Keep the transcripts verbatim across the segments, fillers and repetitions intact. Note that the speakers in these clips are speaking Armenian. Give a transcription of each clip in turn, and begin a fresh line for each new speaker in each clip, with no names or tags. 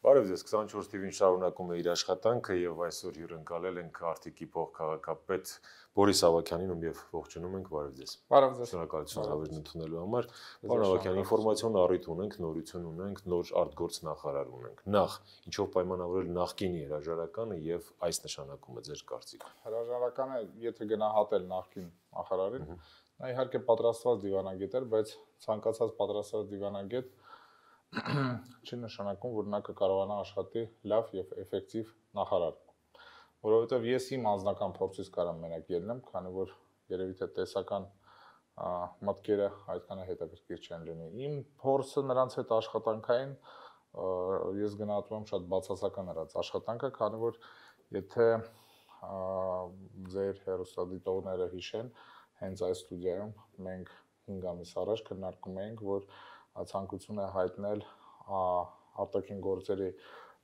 Բարև ձեզ, քսանչորս թիվին շարունակում է իր աշխատանքը եւ այսօր հյուրընկալել ենք Արտիկի փոխքաղաքապետ Բորիս Ավագյանին, ում եւ ողջունում ենք, բարև ձեզ։
Բարև ձեզ։
Շնորհակալություն հավերն ընդունելու համար։ Պարոն Ավագյան, ինֆորմացիոն առիթ ունենք, նորություն ունենք, նոր արտգործ նախարար ունենք։ Նախ, ինչով պայմանավորել նախկինի հրաժարականը եւ այս նշանակումը ձեր կարծիքով։
Հրաժարականը, եթե գնահատել նախկին նախարարին, նա իհարկե պատրաստված դիվանագետ էր, բայց ցանկացած պատրաստված դիվանագետ չի նշանակում, որ նա կկարողանա աշխատի լավ եւ էֆեկտիվ նախարար, որովհետեւ ես իմ անձնական փորձից կարամ մենակ ելնեմ, քանի որ երևի թե տեսական մտքերը այդքան հետաքրքիր չեն լինի։ Իմ փորձը նրանց հետ աշխատանքային ես գնահատում եմ շատ բացասական նրանց աշխատանքը, քանի որ եթե ձեր հեռուստադիտողները հիշեն, հենց այս ստուդիայում մենք հինգ ամիս առաջ քննարկում էինք, որ ցանկություն է հայտնել արտաքին գործերի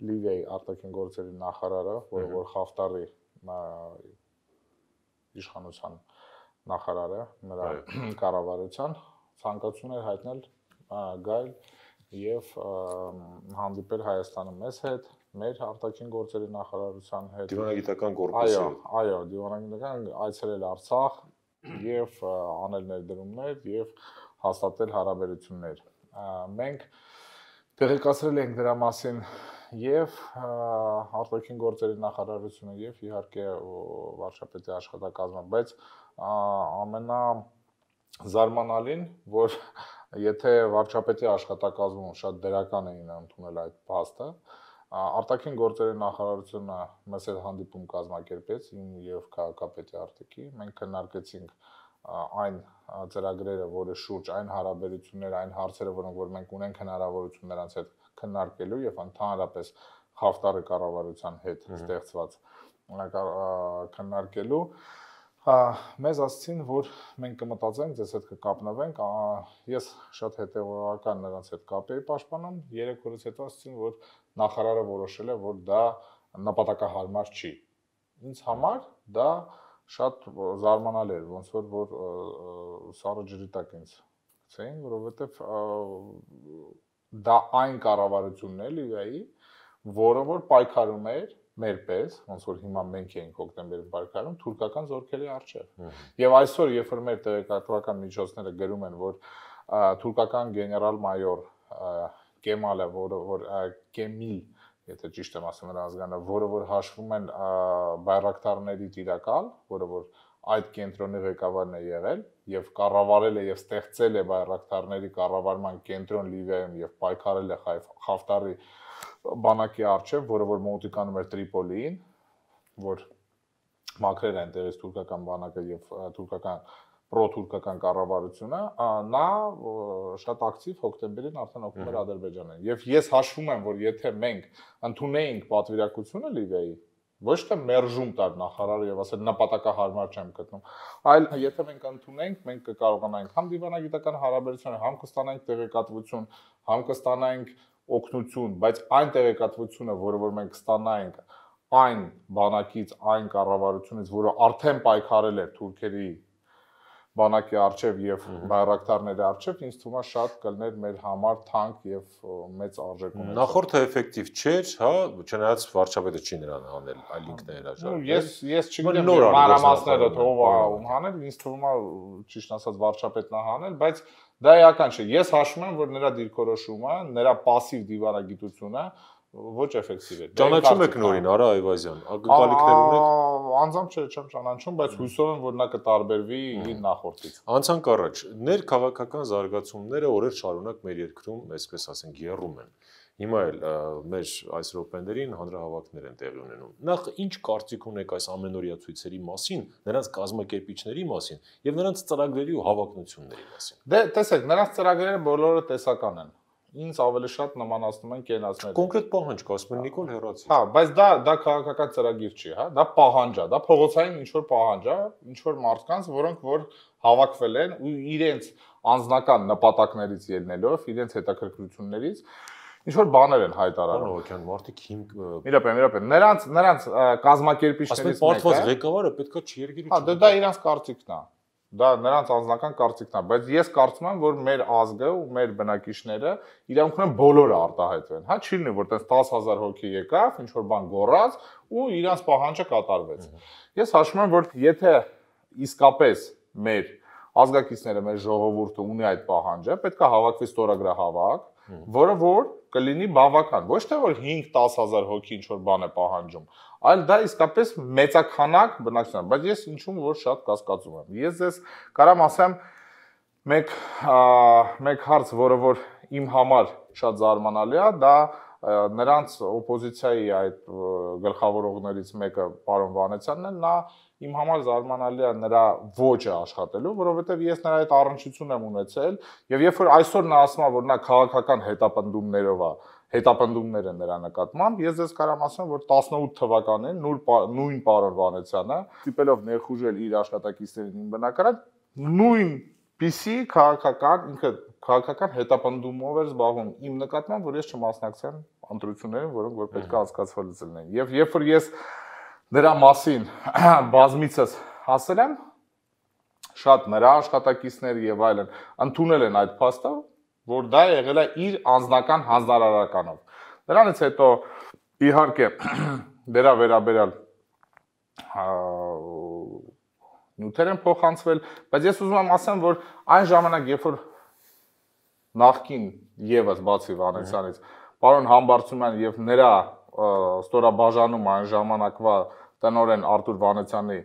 Լիվիայի արտաքին գործերի նախարարը, որը որ Խաֆտարի իշխանության նախարարը, նրա կառավարության ցանկություն է հայտնել գալ եւ հանդիպել Հայաստանը մեզ հետ, մեր արտաքին գործերի նախարարության հետ,
դիվանագիտական կորպուսի հետ։
Այո, այո, դիվանագիտական այցելել Արցախ եւ անել ներդրումներ եւ հաստատել հարաբերություններ։ Մենք տեղեկացրել ենք դրա մասին եւ արտաքին գործերի նախարարությունը եւ իհարկե վարչապետի աշխատակազմը, բայց ամենա զարմանալին, որ եթե վարչապետի աշխատակազմում շատ դերական էին ընդունել այդ փաստը, արտաքին գործերի նախարարությունը մեզ հետ հանդիպում կազմակերպեց իմ եւ քաղաքապետի Արտիկի, մենք քննարկեցինք այն ծրագրերը, որը շուրջ այն հարաբերությունները, այն հարցերը, որոնք որ մենք ունենք հնարավորություն նրանց հետ քննարկելու եւ ընդհանրապես Խաֆտարի կառավարության հետ ստեղծված քննարկելու, մեզ ասացին, որ մենք կմտածենք, ձեզ հետ կկապնվենք, ես շատ հետեւողական նրանց հետ կապ էի պաշտպանում, երեք օրից հետո ասացին, որ նախարարը որոշել է, որ դա նպատակահարմար չի։ Ինձ համար դա շատ զարմանալի էր, ոնց որ որ սառը ջրի տակ ինձ գցեին, որովհետև դա այն կառավարությունն է Լիվիայի, որը որ պայքարում էր մեր պես, ոնց որ հիմա մենք էինք հոկտեմբերին պայքարում թուրքական զորքերի առջև։ Եվ այսօր, երբ որ մեր տեղեկատվական միջոցները գրում են, որ թուրքական գեներալ-մայոր Կեմալը, որը որ Կեմիլ, եթե ճիշտ եմ ասում նրա ազգանը, որը որ հաշվում են բայրակտարների տիրակալ, որը որ այդ կենտրոնի ղեկավարն է եղել եւ կառավարել է եւ ստեղծել է բայրակտարների կառավարման կենտրոն Լիվիայում եւ պայքարել է Խաֆտարի բանակի առջև, որը որ մոտիկանում էր Տրիպոլիին, որ մաքրել է այնտեղից թուրքական բանակը եւ թուրքական պրոթուրքական կառավարությունը, նա շատ ակտիվ հոկտեմբերին արդեն օգնում էր Ադրբեջանին։ Եվ ես հաշվում եմ, որ եթե մենք ընդունեինք պատվիրակությունը Լիվիայի, ոչ թե մերժում տար նախարարը եւ ասել նպատակահարմար չեմ գտնում, այլ եթե մենք ընդունենք, մենք կկարողանանք համ դիվանագիտական հարաբերություն, համ կստանանք տեղեկատվություն, համ կստանանք օգնություն, բայց այն տեղեկատվությունը, որը որ մենք կստանայինք այն բանակից, այն կառավարությունից, որը արդեն պայքարել էր թուրքերի բանակի առջև եւ բայրակտարների առջև, ինձ թվում է շատ կլներ մեր համար թանկ եւ մեծ արժեք ունեցող։
Նախորդը էֆեկտիվ չէր, հա, չնայած վարչապետը չի նրան հանել, այլ ինքն է հրաժարվել։
Ես ես չգիտեմ մանրամասները ով է ում հանել, ինձ թվում է ճիշտ ասած վարչապետն է հանել, բայց դա էական չէ։ Ես հաշվում եմ, որ նրա դիրքորոշումը, նրա пассив դիվանագիտությունը ոչ էֆեկտիվ է։
Ճանաչում եք նորին Արա Այվազյան, ակնկալիքներ ունեք։
Անձամբ չէ, չեմ ճանաչում, բայց հույսով եմ, որ նա կտարբերվի իր նախորդից։
Անցանք առաջ, ներքաղաքական զարգացումները օրեր շարունակ մեր երկրում, այսպես ասենք, եռում են։ Հիմա էլ մեր այս րոպեներին հանրահավաքներ են տեղի ունենում։ Նախ ինչ կարծիք ունեք այս ամենօրյա ցույցերի մասին, նրանց կազմակերպիչների մասին եւ նրանց ծրագրերի ու հավակնությունների մասին։
Դե տեսեք, նրանց ծրագրերը բոլորը տեսական են։ Ինձ ավելի շատ նմանացնում են կենացները։
Կոնկրետ պահանջ կա, ասում են Նիկոլ հեռացի։
Հա, բայց դա դա քաղաքական ծրագիր չի, հա, դա պահանջ է, դա փողոցային ինչ որ պահանջ է, ինչ որ մարդկանց, որոնք որ հավաքվել են ու իրենց անձնական նպատակներից ելնելով, իրենց հետաքրքրություններից ինչ որ բաներ են հայտարարում։
Պարոն մարդիկ հիմք
Մի րոպե, մի րոպե, նրանց նրանց կազմակերպիչներից
մեկը։ Ասում են պարտված ղեկավարը պետքա չերգիր ու։
Հա, դա դա իրենց կարծիքն է։ Դա նրանց անձնական կարծիքն է, բայց ես կարծում եմ, որ մեր ազգը ու մեր բնակիչները իրենք ունեն բոլորը արտահայտվեն։ Հա չի լինի, որ տես տասը հազար հոգի եկավ, ինչ որ բան գոռաց ու իրանց պահանջը կատարվեց։ Ես հաշվում եմ, որ եթե իսկապես մեր ազգակիցները, մեր ժողովուրդը ունի այդ պահանջը, պետք է հավաքվի ստորագրահավաք, որը որ կլինի բավական, ոչ թե որ հինգ-տասը հազար հոգի ինչ որ բան է պահանջում, այլ դա իսկապես մեծաքանակ բնակչություն է, բայց ես ինչու որ շատ կասկածում եմ։ Ես ձեզ կարամ ասեմ մեկ մեկ հարց, որը որ իմ համար շատ զարմանալի է, դա նրանց օպոզիցիայի այդ գլխավորողներից մեկը պարոն Վանեցյանն է, նա իմ համար զարմանալի է նրա ոճը աշխատելու, որովհետև ես նրա այդ առնչություն եմ ունեցել, եւ երբ որ այսօր նա ասում է, որ նա քաղաքական հետապնդումներով է, հետապնդումներ են նրա նկատմամբ, ես ձեզ կարամ ասեմ, որ տասնութ թվականին նույն պարոն Վանեցյանը, ստիպելով ներխուժել իր աշխատակիցներին իմ բնակարան, նույն պիսի քաղաքական, ինքը քաղաքական հետապնդումով էր զբաղվում իմ նկատմամբ, որ ես չմասնակցեմ ընտրություններին, որոնք որ պետք է անցկացվելուց լինեն։ Եվ երբ որ ես դրա մասին բազմիցս ասել եմ, շատ նրա աշխատակիցներ եւ այլն ընդունել են այդ փաստը, որ դա եղել է իր անձնական հանձնարարականով։ Դրանից հետո իհարկե դրա վերաբերյալ նյութեր են փոխանցվել, բայց ես ուզում եմ ասեմ, որ այն ժամանակ, երբ որ նախկին եւս բացի Վանեցյանից, պարոն Համբարձումյան եւ նրա ստորաբաժանում այն ժամանակվա տնօրեն Արտուր Վանեցյանի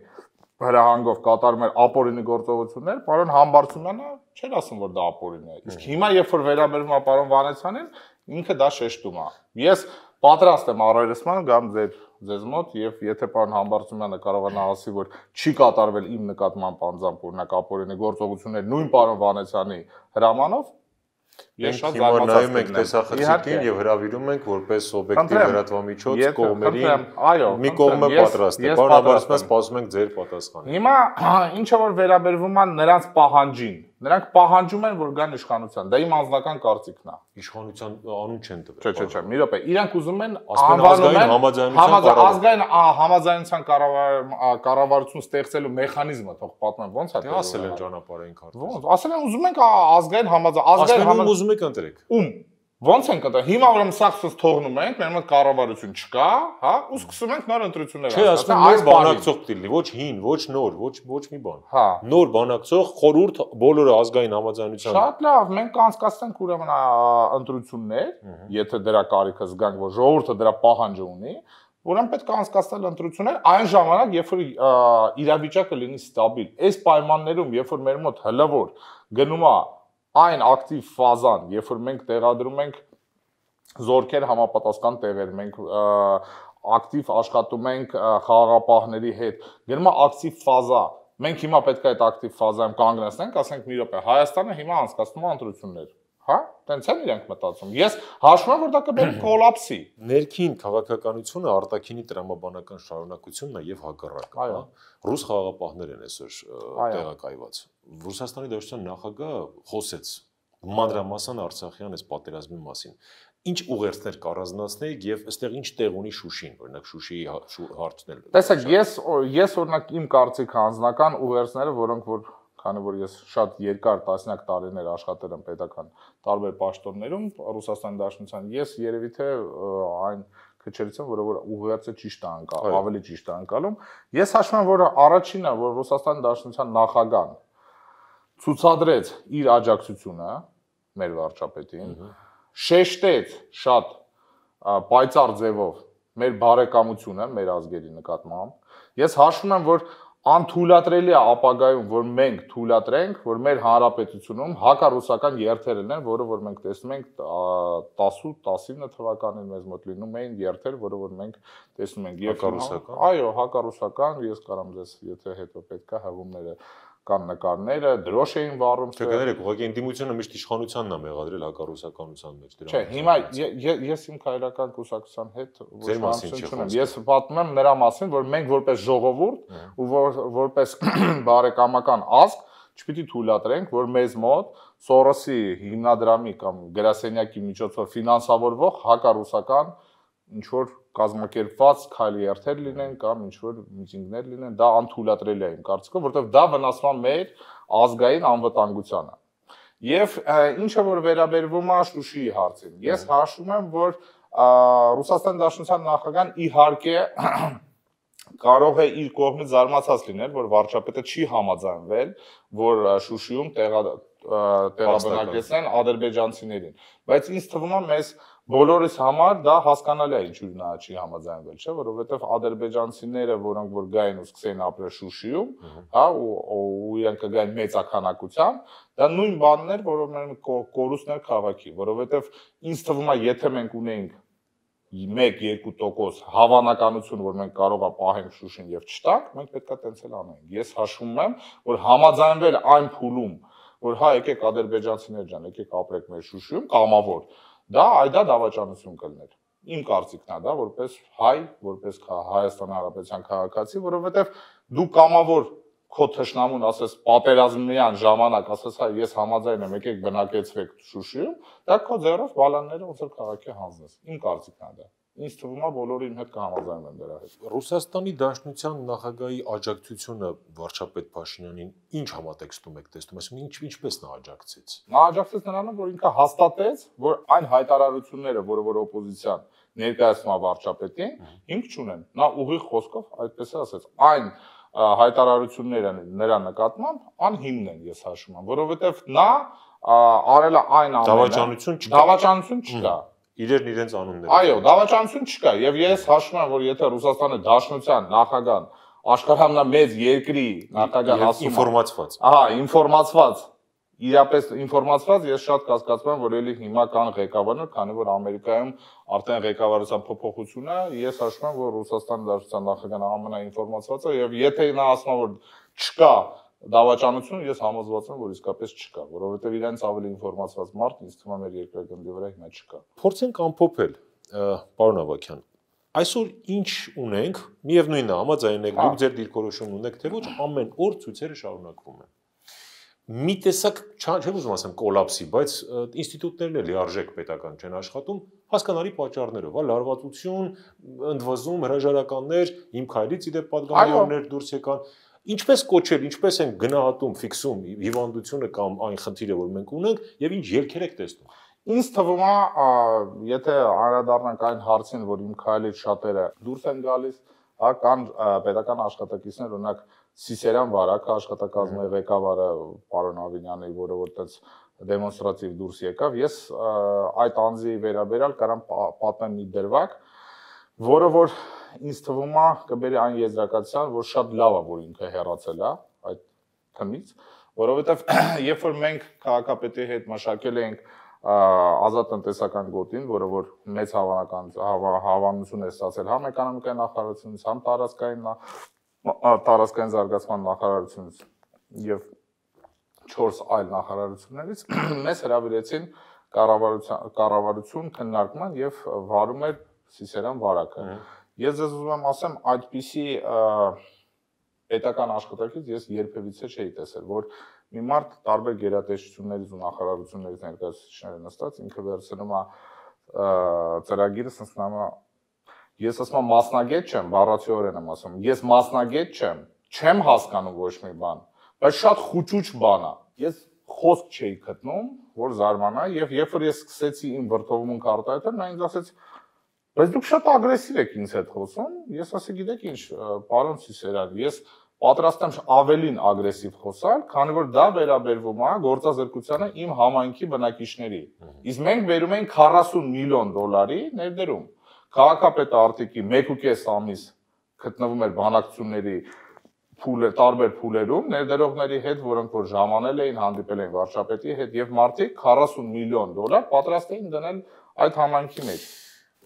հրահանգով կատարում էր ապօրինի գործողություններ, պարոն Համբարձումյանը չէր ասում, որ դա ապօրին է։ Իսկ հիմա, երբ որ վերաբերվում է պարոն Վանեցյանին, ինքը դա շեշտում է։ Ես պատրաստ եմ առերեսման գամ ձեր ձեզ մոտ եւ եթե պարոն Համբարձումյանը կարողանա ասի, որ չի կատարվել իմ նկատմամբ անձամբ օրինակ ապօրինի գործողություններ նույն պարոն Վանեցյանի հրամանով,
Ես շատ զարմացած եմ տեսախցիկին եւ հրավիրում ենք որպես օբյեկտիվ լրատվամիջոց կողմերին մի կողմը պատրաստ է։ Պարոն Համբարձումյան, սպասում ենք ձեր պատասխանը։
Հիմա ինչը որ վերաբերվում է նրանց պահանջին, նրանք պահանջում են, որ գան իշխանության։ Դա իմ անձնական կարծիքն է։
Իշխանության անուն չեն տվել։
Չէ, չէ, չէ, մի րոպե։ Իրանք ուզում են
ազգային համաձայնության
ազգային համաձայնության կառավարություն ստեղծելու մեխանիզմը, թող պատմեմ ոնց է։
Դե ասել են ճանապարհային քարտեզ։
Ոնց, ասել են ուզում ենք ազգային համաձայնություն, ազգային
ուզում եք ընտրեք։
Ում ոնց ենք ընտրել։ Հիմա ուրեմն սաղցս թողնում ենք, մեր մոտ կառավարություն չկա, հա, ու սկսում ենք նոր ընտրություններ
անցնել։ Չէ, ասում եմ նոր բանակցող դիլի, ոչ հին, ոչ նոր, ոչ ոչ մի բան։
Հա։
Նոր բանակցող խորհուրդ բոլորը ազգային համաձայնության։
Շատ լավ, մենք կանցկացնենք ուրեմն ընտրություններ, եթե դրա կարիքը զգանք, որ ժողովուրդը դրա պահանջը ունի, ուրեմն պետք է անցկացնել ընտրություններ այն ժամանակ, երբ որ իրավիճակը լինի ստաբիլ։ Այս պայմաններում, երբ որ մեր մոտ հլվոր գնում է այն ակտիվ ֆազան, երբ որ մենք տեղադրում ենք զորքեր համապատասխան տեղեր, մենք ակտիվ աշխատում ենք խաղաղապահների հետ, գնում է ակտիվ ֆազա, մենք հիմա պետք է այդ ակտիվ ֆազայում կանգնեցնենք, ասենք մի րոպե, Հայաստանը հիմա անցկացնում է ընտրություններ, հա, տենց են իրենք մտածում, ես հաշվում եմ, որ դա կբերի կոլապսի։
Ներքին քաղաքականությունը արտաքինի տրամաբանական շարունակությունն է եւ հակառակը, հա։ Ռուս խաղաղապահներ են այսօր տեղակայված։ Ռուսաստանի Դաշնության նախագահը խոսեց մանրամասն Արցախյան այս պատերազմի մասին։ Ինչ ուղերձներ կառանձնացնեիք եւ այստեղ ինչ տեղ ունի Շուշին, օրինակ Շուշիի հարցն էլ։
Տեսեք, ես ես օրինակ իմ կարծիքը անձնական ուղերձները, որոնք որ քանի որ ես շատ երկար տասնյակ տարիներ աշխատել եմ պետական տարբեր պաշտոններում Ռուսաստանի Դաշնության, ես երևի թե այն քչերից եմ, որը որ ուղերձը ճիշտ է անցալում, ավելի ճիշտ է անցալում։ Ես հաշվում եմ, որ առաջինը, որ Ռուսաստանի Դաշնության նախագահան ցուցադրեց իր աջակցությունը մեր վարչապետին, շեշտեց շատ պայծառ ձևով մեր բարեկամությունը մեր ազգերի նկատմամբ։ Ես հաշվում եմ, որ անթույլատրելի է ապագայում, որ մենք թույլատրենք, որ մեր հանրապետությունում հակառուսական երթեր լինեն, որը որ մենք տեսնում ենք տասութ տասինը թվականին մեզ մոտ լինում էին երթեր, որը որ մենք տեսնում ենք
հակառուսական։
Այո, հակառուսական, ես կարամ ձեզ, եթե հետո պետք է հղումները կան նկարները, դրոշ էին վառում։
Չէ, կներեք, ուղղակի ընդդիմությունը միշտ իշխանությանն է մեղադրել հակառուսականության մեջ դրա։
Չէ, հիմա ես իմ քայլական կուսակցության հետ ոչ մասին չունեմ։ Ես պատմում եմ նրա մասին, որ մենք որպես ժողովուրդ ու որպես բարեկամական ազգ չպիտի թույլատրենք, որ մեզ մոտ Սորոսի հիմնադրամի կամ գրասենյակի միջոցով ֆինանսավորվող հակառուսական ինչ որ կազմակերպված քայլի երթեր լինեն կամ ինչ որ միտինգներ լինեն, դա անթույլատրելի է իմ կարծիքով, որովհետև դա վնասվում է մեր ազգային անվտանգությանը։ Եվ ինչը որ վերաբերվում է Շուշիի հարցին, ես հաշվում եմ, որ Ռուսաստանի Դաշնության նախագահան իհարկե կարող է իր կողմից զարմացած լինել, որ վարչապետը չի համաձայնվել, որ Շուշիում տեղաբնակեցնեն ադրբեջանցիներին, բայց ինձ թվում է մեզ բոլորիս համար դա հասկանալի է ինչու նա չի համաձայնվել, չէ, որովհետև ադրբեջանցիները, որոնք որ գային ու սկսեին ապրել Շուշիում, հա, ու իրենք կգային մեծականությամբ, դա նույն բանն էր, որով մենք կորուստներ քաղաքի, որովհետև ինձ թվում է, եթե մենք ունեինք մեկ-երկու տոկոս հավանականություն, որ մենք կարող է պահենք Շուշին եւ չտանք, մենք պետք է տենց էլ անենք։ Ես հաշվում եմ, որ համաձայնվել այն փուլում, որ հա եկեք ադրբեջանցիներ ջան, եկեք ապրեք մեր Շուշիում, կամավոր, դա այդա դավաճանություն կլներ։ Իմ կարծիքն է դա, որպես հայ, որպես Հայաստանի Հանրապետության քաղաքացի, որովհետեւ դու կամավոր քո թշնամուն ասես պատերազմյան ժամանակ ասես հա ես համաձայն եմ եկեք բնակեցվեք Շուշիում, դա քո ձեռով բալանները ոնց որ քաղաքի հանձնես։ Իմ կարծիքն է դա։ Ինձ թվում է բոլորը իմ հետ կհամաձայնեն դրա հետ։
Ռուսաստանի Դաշնության նախագահի աջակցությունը վարչապետ Փաշինյանին ինչ համատեքստում եք տեսնում, այսինքն ինչ ինչպես նա աջակցեց։
Նա աջակցեց նրան, որ ինքը հաստատեց, որ այն հայտարարությունները, որը որ օպոզիցիան ներկայացնում է վարչապետին, հիմք չունեն։ Նա ուղիղ խոսքով այդպես է ասաց, այն հայտարարությունները նրա նկատմամբ անհիմն են, ես հաշվում եմ, որովհետև նա արել է այն ամենը,
դավաճանություն չկա։
Դավաճանություն չկա։
Իրերն իրենց անունները։
Այո, դավաճանություն չկա, եւ ես հաշվում եմ, որ եթե Ռուսաստանի Դաշնության նախագահան աշխարհամնա մեծ երկրի նախագահան ասում է
ինֆորմացված։
Ահա, ինֆորմացված, իրապես ինֆորմացված, ես շատ կասկածում եմ, որ ելի հիմա կան ղեկավարներ, քանի որ Ամերիկայում արդեն ղեկավարության փոփոխություն է, ես հաշվում եմ, որ Ռուսաստանի Դաշնության նախագահան ամենաինֆորմացվածը եւ եթե նա ասում է, որ չկա դավաճանություն, ես համոզված եմ, որ իսկապես չկա, որովհետև իրենց ավելի ինֆորմացված մարդ ինձ թվում է մեր երկրագնդի վրա հիմա չկա։
Փորձենք ամփոփել, պարոն Ավագյան, այսօր ինչ ունենք, միևնույնն է, համաձայն եք, դուք ձեր դիրքորոշումն ունեք, թե ոչ, ամեն օր ցույցերը շարունակվում են։ Մի տեսակ, չեմ ուզում ասեմ կոլապսի, բայց ինստիտուտներն էլ լիարժեք պետական չեն աշխատում, հասկանալի պատճառներով, հա, լարվածություն, ընդվզում, հրաժարականներ, իմ քայլից իդեպ պատգամավորներ դուրս եկան։ Ինչպես կոչել, ինչպես են գնահատում, ֆիքսում հիվանդությունը կամ այն խնդիրը, որ մենք ունենք, եւ ինչ ելքեր եք տեսնում։
Ինձ թվում է, եթե անդրադառնանք այն հարցին, որ իմ քայլից շատերը դուրս են գալիս, հա, կան պետական աշխատակիցներ, օրինակ Սիսերան վարակը աշխատակազմի ղեկավարը պարոն Ավինյանը, որը որ այդպես դեմոնստրատիվ դուրս եկավ, ես այդ անձի վերաբերյալ կարամ պատմեմ մի դրվագ, որը որ ինձ թվում է կբերի այն եզրակացության, որ շատ լավ է, որ ինքը հեռացել է այդ թմից, որովհետև երբ որ մենք քաղաքապետի հետ մշակել ենք ազատ տնտեսական գոտին, որը որ մեծ հավանական հավանություն է ստացել համ էկոնոմիկայի նախարարությունից, համ տարածքային տարածքային զարգացման նախարարությունից եւ չորս այլ նախարարություններից, մեզ հրավիրեցին կառավարություն քննարկման եւ վարում էր Սիսերան վարակը։ Ես ձեզ ուզում եմ ասեմ, այդպիսի պետական աշխատակից ես երբևիցե չէի տեսել, որ մի մարդ տարբեր գերատեսչություններից ու նախարարություններից ներկայացուցիչները նստած ինքը վերցնում է ծրագիրը, ասում է ես ասում եմ մասնագետ չեմ, բառացիորեն եմ ասում, ես մասնագետ չեմ, չեմ հասկանում ոչ մի բան, բայց շատ խուճուճ բան է։ Ես խոսք չէի գտնում, որ զարմանայի, եւ երբ որ ես սկսեցի իմ վրդովմունքը արտահայտել, նա ինձ ասեց բայց դուք շատ ագրեսիվ եք ինձ հետ խոսում, ես ասի գիտեք ինչ, պարոն Սիսերան, ես պատրաստ եմ ավելին ագրեսիվ խոսալ, քանի որ դա վերաբերվում է գործազրկությանը իմ համայնքի բնակիչների։ Իսկ մենք բերում ենք քառասուն միլիոն դոլարի ներդրում։ Քաղաքապետը արտիկի մեկ ու կես ամիս գտնվում էր բանակցությունների փուլեր, տարբեր փուլերում ներդրողների հետ, որոնք որ ժամանել էին, հանդիպել էին վարչապետի հետ եւ մարդիկ քառասուն միլիոն դոլար պատրաստ էին դնել այդ համայնքի մեջ։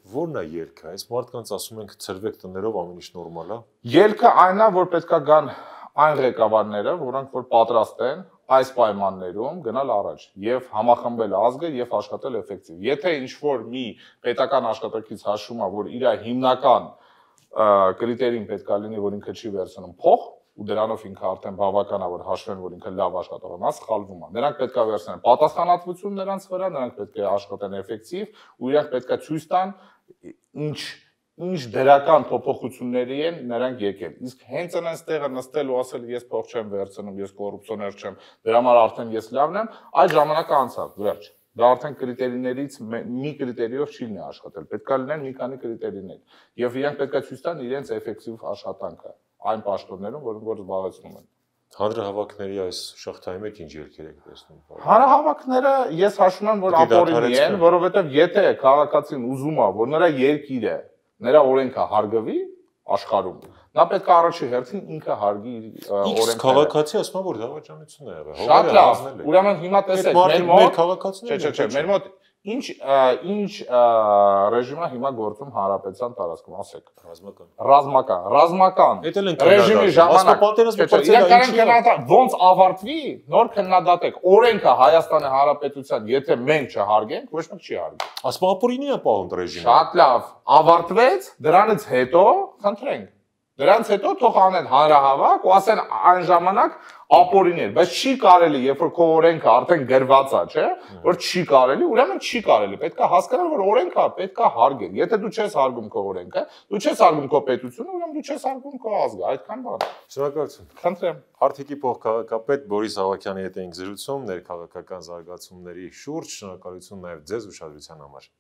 Որն է ելքը, այս մարդկանց ասում ենք ծրվեք տներով ամեն ինչ նորմալ է։
Ելքը այն է, որ պետքա գան այն ղեկավարները, որոնք որ պատրաստ են այս պայմաններում գնալ առաջ եւ համախմբել ազգը եւ աշխատել էֆեկտիվ։ Եթե ինչ որ մի պետական աշխատակից հաշվում է, որ իր հիմնական կրիտերին պետքա լինի, որ ինքը չի վերցնում փող, ու դրանով ինքը արդեն բավական է, որ հաշվեն, որ ինքը լավ աշխատող է, նա սխալվում է։ Նրանք պետք է վերցնեն պատասխանատվություն նրանց վրա, նրանք պետք է աշխատեն էֆեկտիվ, ու իրանք պետք է ցույց տան ինչ ինչ դրական փոփոխությունների են նրանք եկել։ Իսկ հենց այնպես տեղը նստել ու ասել ես փող չեմ վերցնում, ես կոռուպցիոներ չեմ, դրա համար արդեն ես լավն եմ, այդ ժամանակը անցավ, վերջ։ Դա արդեն կրիտերիներից մի կրիտերիով չի լինի աշխատել։ Պետք է լինեն մի քանի կրիտերիներ։ Եվ իրանք պետք է ցույց տան իրենց էֆեկտիվ աշխատանքը այն պաշտոններում, որոնք որ զբաղեցնում են։
Հանրահավաքների այս շղթայի մեջ ինչ ելքեր եք տեսնում։
Հանրահավաքները ես հաշվում եմ, որ ապօրինի են, որովհետև եթե քաղաքացին ուզում է, որ նրա երկիրը, նրա օրենքը հարգվի աշխարհում, նա պետք է առաջի հերթին ինքը հարգի իր օրենքները։ Իսկ
քաղաքացի ասում է, որ դավաճանություն է եղել։
Շատ լավ։ Ուրեմն հիմա տեսեք, մեր մոտ
քաղաքացիները,
չէ, չէ, մեր մոտ ինչ ինչ ռեժիմը հիմա գործում հանրապետության տարածքում, ասեք։
Ռազմական։
Ռազմական, ռազմական։
Էդ էլ
ռեժիմի ժամանակ
պատերազմը
ոնց ավարտվի, նոր քննադատեք։ Օրենքը Հայաստանի Հանրապետության, եթե մենք չհարգենք, ոչ մեկ չի հարգի։
Ասում ապօրինի է պահում ռեժիմը։
Շատ լավ։ Ավարտվեց, դրանից հետո խնդրենք։ Դրանից հետո թող անեն հանրահավաք ու ասեն այն ժամանակ ապօրիներ, բայց չի կարելի, երբ որ քո օրենքը արդեն գրված է, չէ, որ չի կարելի, ուրեմն չի կարելի։ Պետք է հասկանալ, որ օրենքը պետք է հարգել։ Եթե դու չես հարգում քո օրենքը, դու չես հարգում քո պետությունը, ուրեմն դու չես հարգում քո ազգը, այդքան բան։
Շնորհակալություն։
Խնդրեմ։
Արթիկի փոխքաղաքապետ Բորիս Ավագյանի հետ էինք զրուցում ներքաղաքական զարգացումների շուրջ։ Շնորհակալություն նաև ձեզ ուշադրության համար։